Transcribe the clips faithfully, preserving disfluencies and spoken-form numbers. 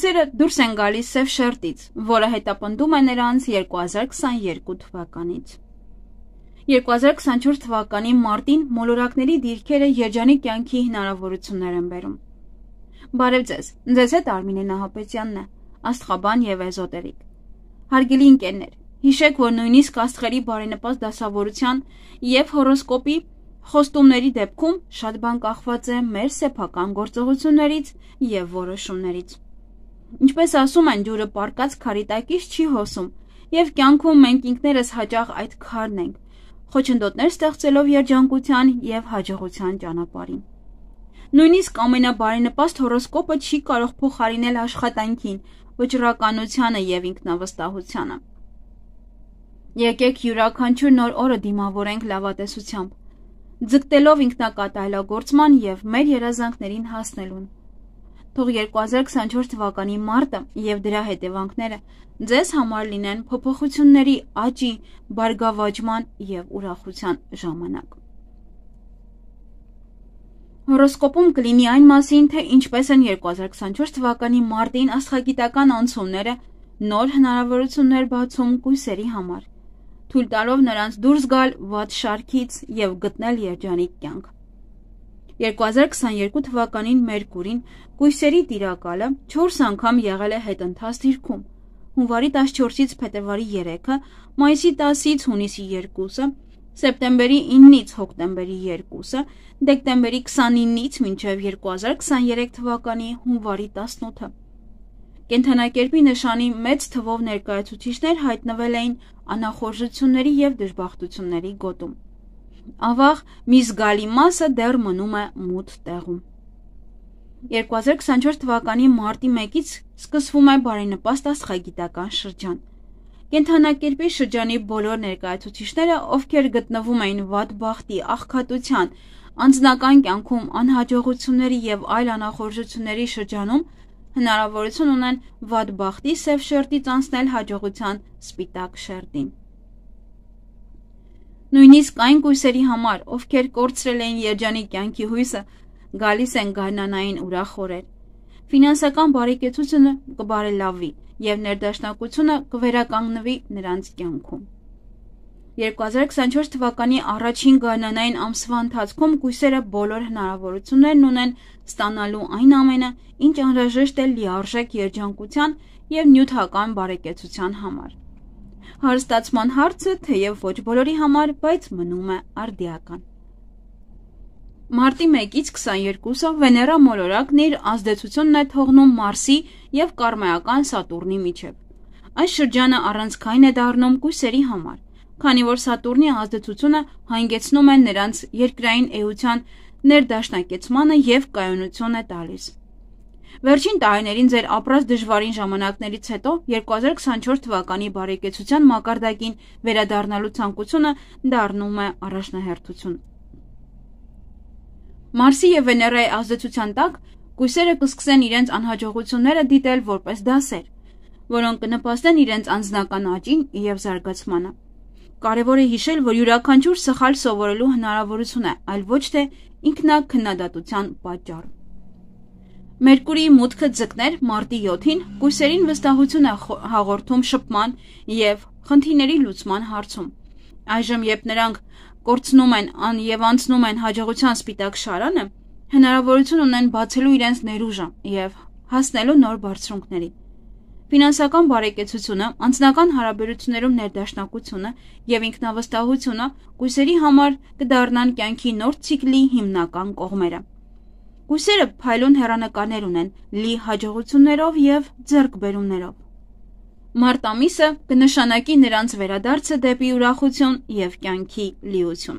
Կույսերը դուրս են գալիս սև շերտից, որը հետապնդում է նրանց երկու հազար քսաներկու թվականից։ երկու հազար քսանչորս թվականի մարտին մոլորակների դիրքերը երջանիկ կյանքի հնարավորություններ են բերում։ Բարև ձեզ, ձեզ հետ Արմինե Նահապետյանն է, աստղաբան և էզոտերիկ։ Հարգելի ընկերներ, հիշեք, որ նույնիսկ աստղերի բարենպաստ դասավորության և հորոսկոպի խոստումների դեպքում շատ բան կախված է մեր սեփական գործողություններից և որոշումներից։ Ինչպես ասում են, ջուրը պառկած քարի տակից չի հոսում, և կյանքում մենք ինքներս հաճախ այդ քարն ենք, խոչընդոտներ ստեղծելով երջանկության և հաջողության ճանապարհին։ Նույնիսկ ամենաբարենպաստ հորոսկոպը չի կարող փոխարինել աշխատանքին, վճռականությանը և ինքնավստահությանը։ Եկեք յուրաքանչյուր նոր օրը դիմավորենք լավատեսությամբ, ձգտելով ինքնակատարելագործման և մեր երազանքներին հասնելուն։ Թող երկու հազար քսանչորս թվականի մարտը և դրա հետևանքները ձեզ համար լինեն փոփոխությունների աճի, բարգավաճման և ուրախության ժամանակ։ Հորոսկոպում կլինի այն մասին, թե ինչպես են երկու հազար քսանչորս թվականի մարտին աստղագիտական անցումները նոր հնարավորություններ բացում կույսերի համար, թույլ տալով նրանց դուրս գալ վատ շարքից և գտնել երջանիկ կյանք։ երկու հազար քսաներկու թվականին Մերկուրին կույսերի տիրակալը չորս անգամ եղել է հետընթաց դիրքում՝ հունվարի տասնչորսից փետրվարի երեքը, մայիսի տասից հունիսի երկուսը, սեպտեմբերի իննից հոկտեմբերի երկուսը, դեկտեմբերի քսանինից մինչև երկու հազար քսաներեք թվականի հունվարի տասնութը։ Կենդանակերպի նշանի մեծ թվով ներկայացուցիչներ հայտնվել էին անախորժությունների և դժբախտությունների գոտում։ Ավաղ մի զգալի մասը դեռ մնում է մութ տեղում։ երկու հազար քսանչորս թվականի մարտի մեկից սկսվում է բարենպաստ աստղագիտական շրջան։ Կենդանակերպի շրջանի բոլոր ներկայացուցիչները, ովքեր գտնվում էին վատ բախտի, աղքատության, անձնական կյանքում անհաջողությունների և այլ անախորժությունների շրջանում, հնարավորություն ունեն վատ բախտի սև շերտից անցնել հաջողության սպիտակ շերտին։ Նույնիսկ այն կույսերի համար, ովքեր կորցրել էին երջանիկ կյանքի հույսը, գալիս են գարնանային ուրախ օրեր։ Ֆինանսական բարեկեցությունը կբարելավի և ներդաշնակությունը կվերականգնվի նրանց կյանքում։ երկու հազար քսանչորս թվականի առաջին գարնանային ամսվա ընթացքում կույսերը բոլոր հնարավորություններն ունեն ստանալու այն ամենը, ինչ անհրաժեշտ է լիարժեք երջանկության և նյութական բարեկեցության համար։ Հարստացման հարցը թեև ոչ բոլորի համար, բայց մնում է արդիական։ Մարտի մեկից քսաներկուսը Վեներա մոլորակն իր ազդեցությունն է թողնում Մարսի և կարմայական Սատուրնի միջև։ Այս շրջանը առանցքային է դառնում կույսերի համար, քանի որ Սատուրնի ազդեցությունը հանգեցնում է նրանց երկրային էության ներդաշնակեցմանը և կայունություն է տալիս։ Վերջին տարիներին ձեր ապրած դժվարին ժամանակներից հետո երկու հազար քսանչորս թվականի բարեկեցության մակարդակին վերադառնալու ցանկությունը դառնում է առաջնահերթություն։ Մարսի և Վեներայի ազդեցության տակ կույսերը կսկսեն իրենց անհաջողությունները դիտել որպես դասեր, որոնք կնպաստեն իրենց անձնական աճին և զարգացմանը։ Կարևոր է հիշել, որ յուրաքանչյուր սխալ սովորելու հնարավորություն է, այլ ոչ թե ինքնաքննադատության պատճառ։ Մերկուրիի մուտքը ձկներ մարտի յոթին կույսերին վստահություն է հաղորդում շփման և խնդիրների լուծման հարցում։ Այժմ, երբ նրանք կորցնում են և անցնում են հաջողության սպիտակ շարանը, հնարավորություն ունեն բացելու իրենց ներուժը և հասնելու նոր բարձրունքների։ Ֆինանսական բարեկեցությունը, անձնական հարաբերություններում ներդաշնակությունը և ինքնավստահությունը կույսերի համար կդառնան կյանքի նոր ցիկլի հիմնական կողմերը։ Կույսերը փայլուն հեռանկարներ ունեն լի հաջողություններով և ձեռքբերումներով։ Մարտ ամիսը կնշանակի նրանց վերադարձը դեպի ուրախություն և կյանքի լիություն։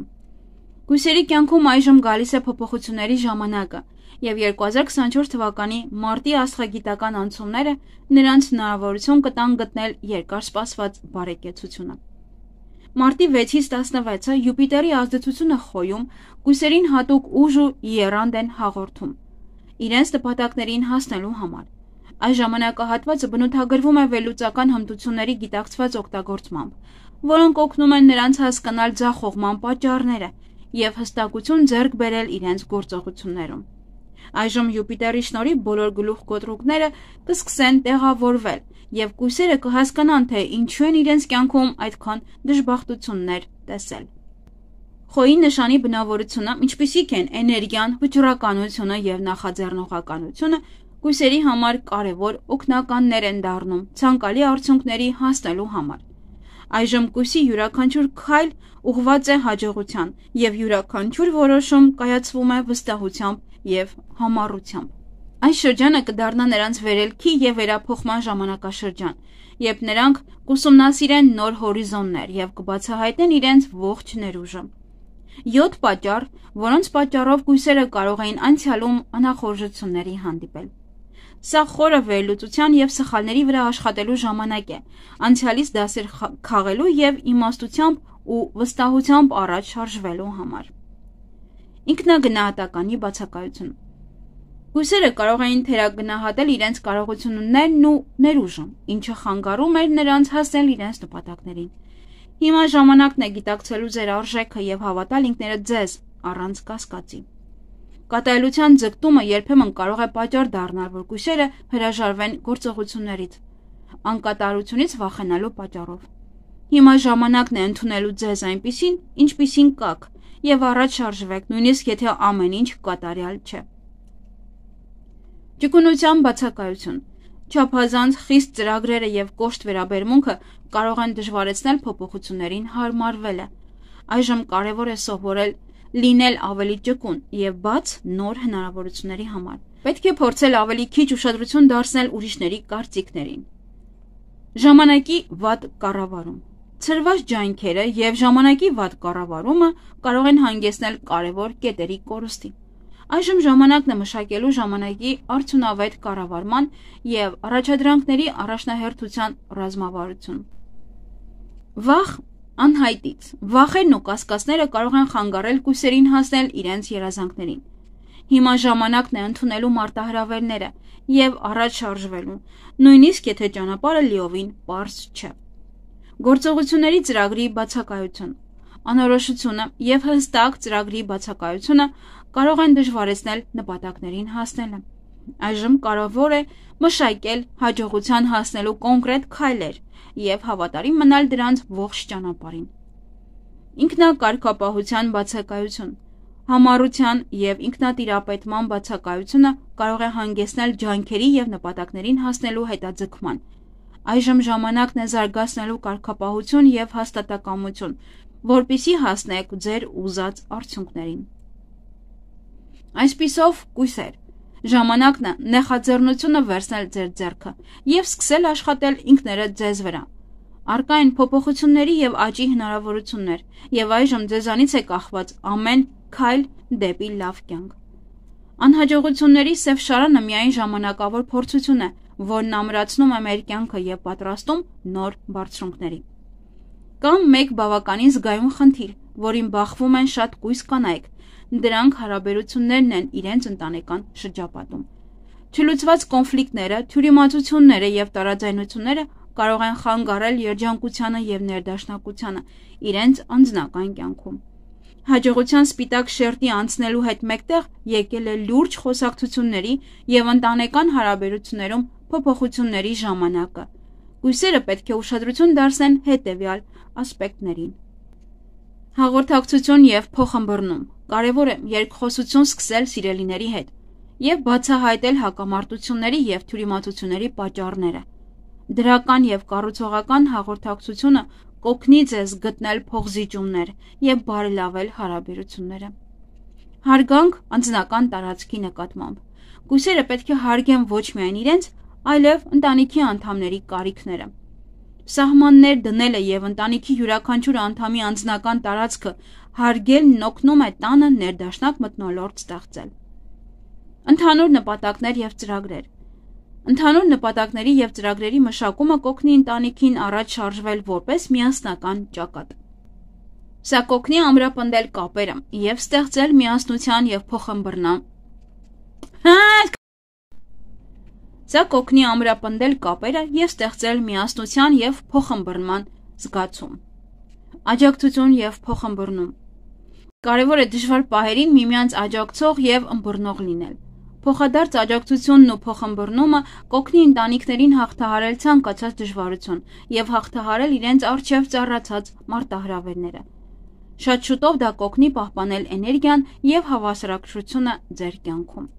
Կույսերի կյանքում այժմ գալիս է փոփոխությունների ժամանակը, և երկու հազար քսանչորս թվականի մարտի աստղագիտական անցումները նրանց հնարավորություն կտան գտնել երկար սպասված բարեկեցությունը։ Մարտի վեցից տասնվեցը Յուպիտերի ազդեցությունը խոյում կույսերին հատուկ ուժ ու եռանդ են հաղորդում իրենց նպատակներին հասնելու համար։ Այս ժամանակահատվածը բնութագրվում է վերլուծական հմտությունների գիտակցված օգտագործմամբ, որոնք օգնում են նրանց հասկանալ ձախողման պատճառները և հստակություն ձեռք բերել իրենց գործողություններում։ Այժմ Յուպիտերի շնորհիվ բոլոր գլուխ կոտրուկները կսկսեն տեղավորվել եւ կույսերը կհասկանան, թե ինչու են իրենց կյանքում այդքան դժբախտություններ տեսել։ Խոյի նշանի բնավորությունը, ինչպիսիք են էներգիան, վճռականությունը եւ նախաձեռնողականությունը, կույսերի համար կարևոր օգնականներ են դառնում ցանկալի արդյունքների հասնելու համար։ Այժմ կույսի յուրաքանչյուր քայլ ուղղված է հաջողության եւ յուրաքանչյուր որոշում կայացվում է վստահությամբ եւ համառությամբ։ Այս շրջանը կդառնա նրանց վերելքի եւ վերափոխման ժամանակաշրջան, երբ նրանք կուսումնասիրեն նոր հորիզոններ եւ կբացահայտեն իրենց ողջ ներուժը։ յոթ պատճառ, որոնց պատճառով կույսերը կարող էին անցյալում անախորժությունների հանդիպել։ Սա խորը վերլուծության եւ սխալների վրա աշխատելու ժամանակ է, անցյալից դասեր քաղելու եւ իմաստությամբ ու վստահությամբ առաջ շարժվելու համար։ Ինքնագնահատականի բացակայություն։ Կույսերը կարող էին թերագնահատել իրենց կարողություններն ու ներուժը, ինչը խանգարում էր նրանց հասնել իրենց նպատակներին։ Հիմա ժամանակն է գիտակցելու ձեր արժեքը եւ հավատալ ինքներդ ձեզ առանց կասկածի։ Կատարելության ձգտումը երբեմն կարող է պատճառ դառնալ, որ կույսերը հրաժարվեն գործողություններից, անկատարությունից վախենալու պատճառով։ Հիմա ժամանակն է ընդունելու ձեզ այնպիսին, ինչպիսին կաք, եւ առաջ շարժվեք, նույնիսկ եթե ամեն ինչ կատարյալ չէ։ Ճկունության բացակայություն։ Չափազանց խիստ ծրագրերը եւ կոշտ վերաբերմունքը կարող են դժվարեցնել փոփոխություններին հարմարվելը։ Այժմ կարևոր է սովորել լինել ավելի ճկուն եւ բաց նոր հնարավորությունների համար։ Պետք է փորձել ավելի քիչ ուշադրություն դարձնել ուրիշների կարծիքներին։ Ժամանակի վատ կառավարում։ Ցրված ջանքերը եւ ժամանակի վատ կառավարումը կարող են հանգեցնել կարևոր կետերի կորստի։ Այժմ ժամանակն է մշակելու ժամանակի արդյունավետ կառավարման եւ առաջադրանքների առաջնահերթության ռազմավարություն։ Վախ անհայտից։ Վախերն ու կասկածները կարող են խանգարել կույսերին հասնել իրենց երազանքներին։ Հիմա ժամանակն է ընդունելու մարտահրավերները եւ առաջ շարժվելու, նույնիսկ եթե ճանապարհը լիովին պարզ չէ։ Գործողությունների ծրագրի բացակայություն։ Անորոշությունը եւ հստակ ծրագրի բացակայությունը կարող են դժվարեցնել նպատակներին հասնելը։ Այժմ կարևոր է մշակել հաջողության հասնելու կոնկրետ քայլեր եւ հավատարիմ մնալ դրանց ողջ ճանապարհին։ Ինքնակարգապահության բացակայություն։ Համառության եւ ինքնատիրապետման բացակայությունը կարող է հանգեցնել ջանքերի եւ նպատակներին հասնելու հետաձգման։ Այժմ ժամանակն է զարգացնելու կարգապահություն եւ հաստատակամություն, որպեսզի հասնեք ձեր ուզած արդյունքներին։ Այսպիսով, կույսեր, ժամանակն է նախաձեռնությունը վերցնել ձեր ձեռքը եւ սկսել աշխատել ինքներդ ձեզ վրա։ Առկա են փոփոխությունների եւ աճի հնարավորություններ, եւ այժմ ձեզանից է կախված ամեն քայլ դեպի լավ կյանք։ Անհաջողությունների սև շարանը միայն ժամանակավոր փորձություն է, որն ամրացնում է մեր կյանքը եւ պատրաստում նոր բարձունքների։ Կամ մեկ բավականին զգայուն խնդիր, որին բախվում են շատ կույս կանայք, դրանք հարաբերություններն են իրենց ընտանեկան շրջապատում։ Չլուծված կոնֆլիկտները, թյուրիմացությունները եւ տարաձայնությունները կարող են խանգարել երջանկությանը եւ ներդաշնակությանը իրենց անձնական կյանքում։ Հաջողության սպիտակ շերտի անցնելու հետ մեկտեղ եկել է լուրջ խոսակցությունների եւ ընտանեկան հարաբերություններում փոփոխությունների ժամանակը։ Կույսերը պետք է ուշադրություն դարձնեն հետեւյալ ասպեկտներին։ Հաղորդակցություն եւ փոխըմբռնում։ Կարևոր է երկխոսություն սկսել սիրելիների հետ եւ բացահայտել հակամարտությունների եւ թյուրիմացությունների պատճառները։ Դրական եւ կառուցողական հաղորդակցությունը կօգնի ձեզ գտնել փոխզիջումներ եւ բարելավել հարաբերությունները։ Հարգանք անձնական տարածքի նկատմամբ։ Կույսերը պետք է հարգեն ոչ միայն իրենց, այլև ընտանիքի անդամների կարիքները։ Սահմաններ դնելը եւ ընտանիքի յուրաքանչյուր անդամի անձնական տարածքը հարգելն օգնում է տանը ներդաշնակ մթնոլորտ ստեղծել։ Ընդհանուր նպատակներ եւ ծրագրեր։ Ընդհանուր նպատակների եւ ծրագրերի մշակումը կօգնի ընտանիքին առաջ շարժվել որպես միասնական ճակատ։ Սա կօգնի ամրապնդել կապերը եւ ստեղծել միասնության եւ փոխըմբռնամ։ Սա կօգնի ամրապնդել կապերը եւ ստեղծել միասնության եւ փոխըմբռնման զգացում։ Աջակցություն եւ փոխըմբռնում։ Կարևոր է դժվար պահերին միմյանց աջակցող եւ ըմբռնող լինել։ Փոխադարձ աջակցությունն ու փոխըմբռնումը կօգնի ընտանիքներին հաղթահարել ցանկացած դժվարություն եւ հաղթահարել իրենց առջև ծառացած մարտահրավերները։ Շատ շուտով դա կօգնի պահպանել էներգիան եւ հավասարակշռությունը ձեր կյանքում։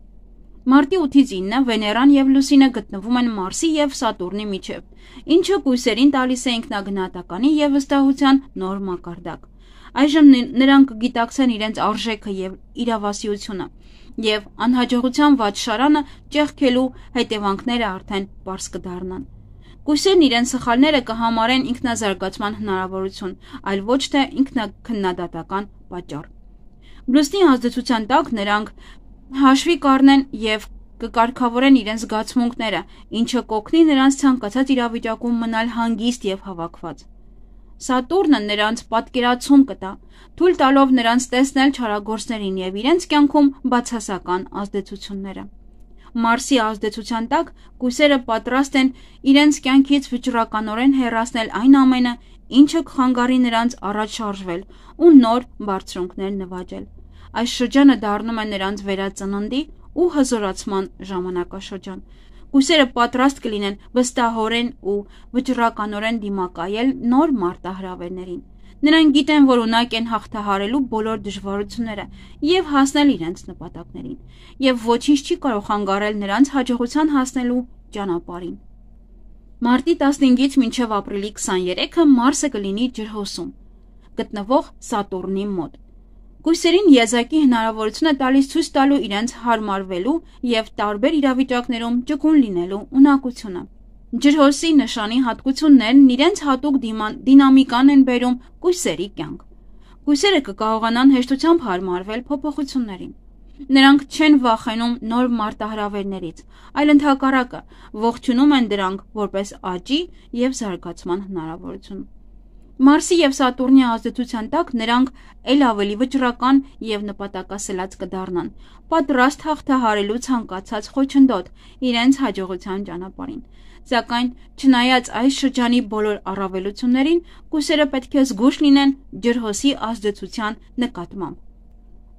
Մարտի ութից ինը Վեներան եւ Լուսինը գտնվում են Մարսի եւ Սատուրնի միջեւ, ինչը կույսերին տալիս է ինքնագնահատականի եւ վստահության նոր մակարդակ։ Այժմ նրանք կգիտակցեն իրենց արժեքը եւ իրավասիությունը, եւ անհաջողության վատ շարանը ճեղքելու հետևանքները արդեն պարզ կդառնան։ Կույսերն իրենց սխալները կհամարեն ինքնազարգացման հնարավորություն, այլ ոչ թե ինքնաքննադատական պատճառ։ Լուսնի ազդեցության տակ նրանք հաշվի կառնեն եւ կկարգավորեն իրենց զգացմունքները, ինչը կօգնի նրանց ցանկացած իրավիճակում մնալ հանգիստ եւ հավաքված։ Սատուրնը նրանց պատկերացում կտա, թույլ տալով նրանց տեսնել չարագործներին եւ իրենց կյանքում բացասական ազդեցությունները։ Մարսի ազդեցության տակ կույսերը պատրաստ են իրենց կյանքից վճռականորեն հեռացնել այն ամենը, ինչը կխանգարի նրանց առաջ շարժվել ու նոր բարձրունքներ նվաճել։ Այս շրջանը դառնում է նրանց վերածննդի ու հզորացման ժամանակաշրջան։ Կույսերը պատրաստ կլինեն վստահորեն ու վճռականորեն դիմակայել նոր մարտահրավերներին։ Նրանք գիտեն, որ ունակ են հաղթահարելու բոլոր դժվարությունները եւ հասնել իրենց նպատակներին, եւ ոչինչ չի կարող խանգարել նրանց հաջողության հասնելու ճանապարհին։ Մարտի տասնհինգից մինչև ապրիլի քսաներեքը Մարսը կլինի ջրհոսում, գտնվող Սատուրնի մոտ։ Կույսերին եզակի հնարավորություն է տալիս ցույց տալու իրենց հարմարվելու եւ տարբեր իրավիճակներում ճկուն լինելու ունակությունը։ Ջրհոսի նշանի հատկություններն իրենց հատուկ դինամիկան են բերում կույսերի կյանք։ Կույսերը կկարողանան հեշտությամբ հարմարվել փոփոխություններին։ Նրանք չեն վախենում նոր մարտահրավերներից, այլ ընդհակառակը ողջունում են դրանք որպես աճի եւ զարգացման հնարավորություն։ Մարսի եւ Սատուրնի ազդեցության տակ նրանք ել ավելի վճռական եւ նպատակասլաց կդառնան, պատրաստ հաղթահարելու ցանկացած խոչընդոտ իրենց հաջողության ճանապարհին։ Սակայն չնայած այս շրջանի բոլոր առավելություններին, կույսերը պետք է զգույշ լինեն ջրհոսի ազդեցության նկատմամբ։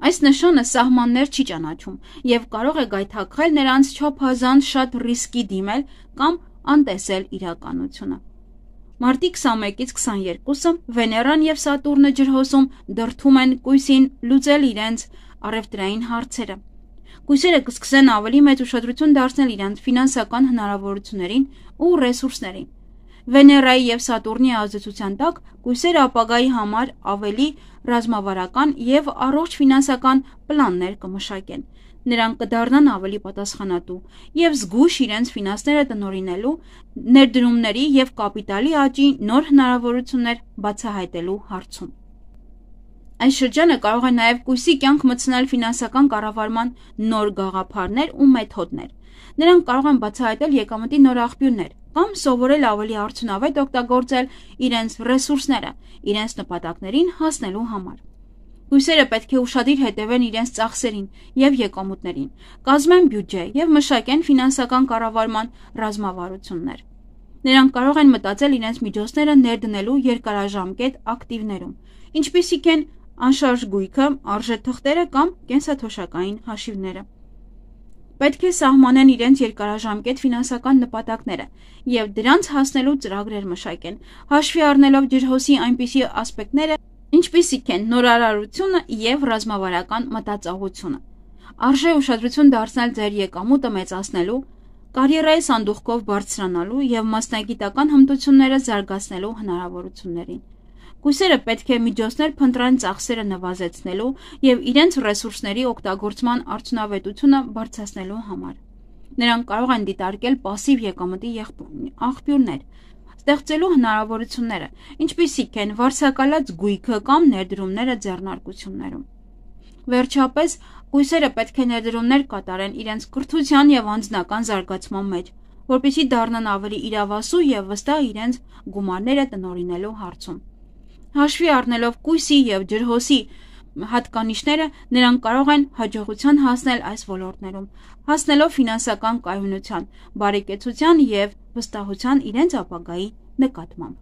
Այս նշանը սահմաններ չի ճանաչում եւ կարող է գայթակղել նրանց չափազանց շատ ռիսկի դիմել կամ անտեսել իրականությունը։ Մարտի քսանմեկից քսաներկուսը Վեներան եւ Սատուրնը ջրհոսում դրդում են կույսին լուծել իրենց առևտրային հարցերը։ Կույսերը կսկսեն ավելի մեծ ուշադրություն դարձնել իրենց ֆինանսական հնարավորություններին ու ռեսուրսներին։ Վեներայի եւ Սատուրնի ազդեցության տակ կույսերը ապագայի համար ավելի ռազմավարական եւ առողջ ֆինանսական պլաններ կմշակեն։ Նրանք կդառնան ավելի պատասխանատու եւ զգույշ իրենց ֆինանսները տնօրինելու, ներդրումների եւ կապիտալի աճի նոր հնարավորություններ բացահայտելու հարցում։ Այս շրջանը կարող է նաեւ կույսի կյանք մտցնել ֆինանսական կառավարման նոր գաղափարներ ու մեթոդներ։ Նրանք կարող են բացահայտել եկամտի նոր աղբյուրներ կամ սովորել ավելի արդյունավետ օգտագործել իրենց ռեսուրսները իրենց նպատակներին հասնելու համար։ Կույսերը պետք է ուշադիր հետևեն իրենց ծախսերին եւ եկամուտներին, կազմեն բյուջե եւ մշակեն ֆինանսական կառավարման ռազմավարություններ։ Նրանք կարող են մտածել իրենց միջոցները ներդնելու երկարաժամկետ ակտիվներում, ինչպիսիք են անշարժ գույքը, արժեթղթերը կամ կենսաթոշակային հաշիվները։ Պետք է սահմանեն իրենց երկարաժամկետ ֆինանսական նպատակները եւ դրանց հասնելու ծրագրեր մշակեն, հաշվի առնելով ջրհոսի այնպիսի ասպեկտները, ինչպիսիք են նորարարությունը եւ ռազմավարական մտածողությունը։ Արժե ուշադրություն դարձնել ձեր եկամուտը մեծացնելու, կարիերայի սանդուղքով բարձրանալու եւ մասնագիտական հմտությունները զարգացնելու հնարավորություններին։ Կույսերը պետք է միջոցներ փնտրեն ծախսերը նվազեցնելու եւ իրենց ռեսուրսների օգտագործման արդյունավետությունը բարձրացնելու համար։ Նրանք կարող են դիտարկել пассив եկամտի աղբյուրներ, ստեղծելու հնարավորությունները, ինչպիսիք են վարձակալած գույքը կամ ներդրումները ձեռնարկություններում։ Վերջապես, կույսերը պետք է ներդրումներ կատարեն իրենց կրթության եւ անձնական զարգացման մեջ, որպեսզի դառնան ավելի իրավասու եւ վստահ իրենց գումարները տնօրինելու հարցում։ Հաշվի առնելով կույսի եւ ջրհոսի հատկանիշները, նրանք կարող են հաջողության հասնել այս ոլորտներում, հասնելով ֆինանսական կայունության, բարեկեցության եւ վստահության իրենց ապագայի նկատմամբ։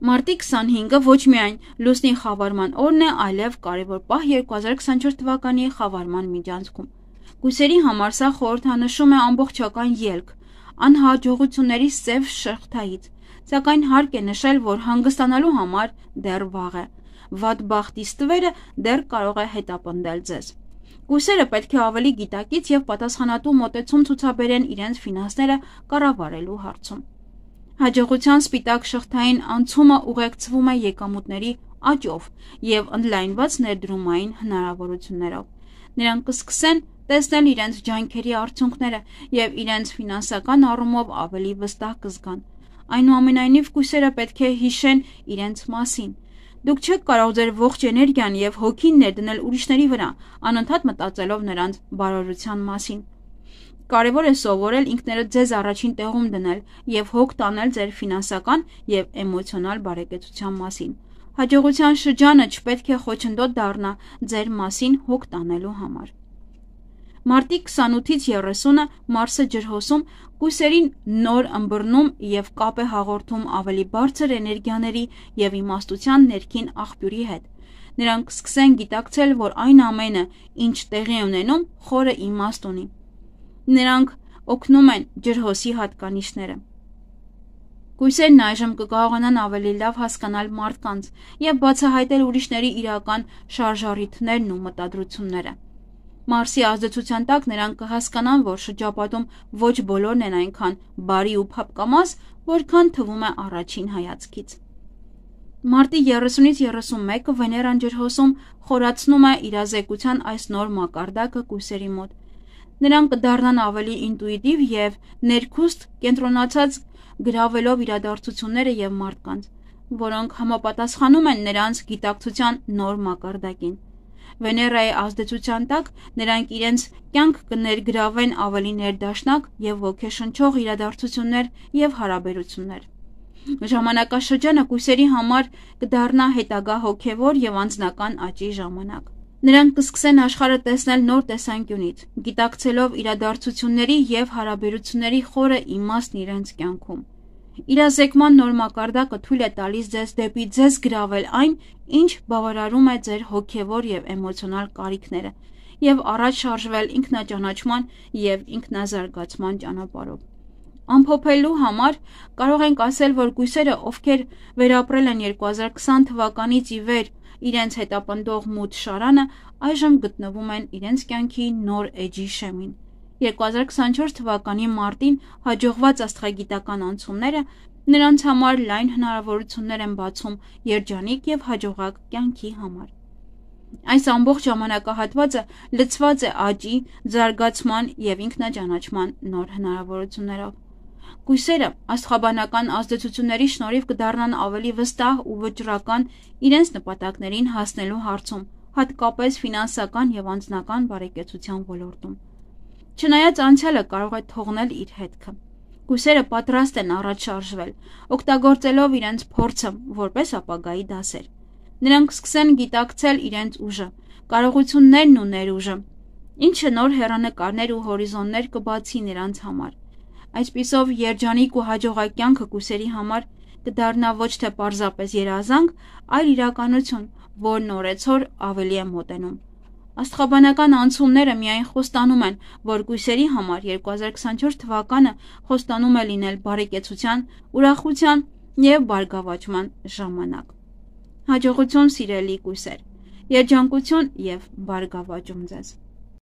Մարտի քսանհինգը ոչ միայն լուսնի խավարման օրն է, այլև կարևոր պահ երկու հազար քսանչորս թվականի խավարման միջանցքում։ Կույսերի համար սա խորհրդանշում է ամբողջական ելք, անհաջողությունների սև շղթայից, սակայն հարկ է նշել, որ հանգստանալու համար դեռ վաղ է, վատ բախտի ստվերը դեռ կարող է հետապնդել ձեզ։ Կույսերը պետք է ավելի գիտակից և պատասխանատու մոտեցում ցուցաբերեն իրենց ֆինանսները կառավարելու հարցում։ Հաջողության սպիտակ շղթային անցումը ուղեկցվում է եկամուտների աճով և ընդլայնված ներդրումային հնարավորություններով։ Նրանք կսկսեն տեսնել իրենց ջանքերի արդյունքները և իրենց ֆինանսական առումով ավելի վստահ կզգան։ Այնուամենայնիվ, կույսերը պետք է հիշեն իրենց մասին։ Դուք չեք կարող ձեր ողջ էներգիան և հոգին ներդնել ուրիշների վրա, անընդհատ մտածելով նրանց բարօրության մասին։ Կարևոր է սովորել ինքներդ ձեզ առաջին տեղում դնել և հոգ տանել ձեր ֆինանսական և էմոցիոնալ բարեկեցության մասին։ Հաջողության շրջանը չպետք է խոչընդոտ դառնա ձեր մասին հոգ տանելու համար։ Մարտի քսանութից երեսունը Մարսը ջրհոսում կույսերին նոր ըմբռնում և կապ է հաղորդում ավելի բարձր էներգիաների և իմաստության ներքին աղբյուրի հետ։ Նրանք կսկսեն գիտակցել, որ այն ամենը, ինչ տեղի է ունենում, խորը իմաստ ունի։ Նրանք օգնում են ջրհոսի հատկանիշները։ Կույսերն այժմ կկարողանան ավելի լավ հասկանալ մարդկանց և բացահայտել ուրիշների իրական շարժառիթներն ու մտադրությունները։ Մարսի ազդեցության տակ նրանք կհասկանան, որ շրջապատում ոչ բոլորն են այնքան բարի ու փափկամազ, որքան թվում է առաջին հայացքից։ Մարտի երեսունից երեսունմեկը Վեներան ջրհոսում խորացնում է իրազեկության այս նոր մակարդակը կույսերի մոտ։ Նրանք կդառնան ավելի ինտուիտիվ և ներքուստ կենտրոնացած, գրավելով իրադարձությունները և մարդկանց, որոնք համապատասխանում են նրանց գիտակցության նոր մակարդակին։ Վեներայի ազդեցության տակ նրանք իրենց կյանք կներգրավեն ավելի ներդաշնակ և ոգեշնչող իրադարձություններ և հարաբերություններ։ Ժամանակաշրջանը կույսերի համար կդառնա հետագա հոգևոր և անձնական աճի ժամանակ։ Նրանք կսկսեն աշխարհը տեսնել նոր տեսանկյունից, գիտակցելով իրադարձությունների և հարաբերությունների խորը իմաստն իրենց կյանքում։ Իրազեկման նոր մակարդակը թույլ է տալիս ձեզ դեպի ձեզ գրավել այն, ինչ բավարարում է ձեր հոգևոր և էմոցիոնալ կարիքները, և առաջ շարժվել ինքնաճանաչման և ինքնազարգացման ճանապարհով։ Ամփոփելու համար կարող ենք ասել, որ կույսերը, ովքեր վերապրել են երկու հազար քսան թվականից ի վեր իրենց հետապնդող մութ շարանը, այժմ գտնվում են իրենց կյանքի նոր էջի շեմին։ երկու հազար քսանչորս թվականի մարտին հաջողված աստղագիտական անցումները նրանց համար լայն հնարավորություններ են բացում երջանիկ և հաջողակ կյանքի համար։ Այս ամբողջ ժամանակահատվածը լցված է աճի, զարգացման և ինքնաճանաչման նոր հնարավորություններով։ Կույսերը աստղաբանական ազդեցությունների շնորհիվ կդառնան ավելի վստահ ու վճռական իրենց նպատակներին հասնելու հարցում, հատկապես ֆինանսական և անձնական բարեկեցության ոլորտում։ Չնայած անցյալը կարող է թողնել իր հետքը, կույսերը պատրաստ են առաջ շարժվել, օգտագործելով իրենց փորձը որպես ապագայի դասեր։ Նրանք կսկսեն գիտակցել իրենց ուժը, կարողություններն ու ներուժը, ինչը նոր հեռանկարներ ու հորիզոններ կբացի նրանց համար։ Այսպիսով, երջանիկ ու հաջողակ կյանքը կույսերի համար կդառնա ոչ թե պարզապես երազանք, այլ իրականություն, որն օրեցօր ավելի է մոտենում։ Աստղաբանական անցումները միայն խոստանում են, որ կույսերի համար երկու հազար քսանչորս թվականը խոստանում է լինել բարեկեցության, ուրախության և բարգավաճման ժամանակ։ Հաջողություն, սիրելի կույսեր, երջանկություն և բարգավաճում ձեզ։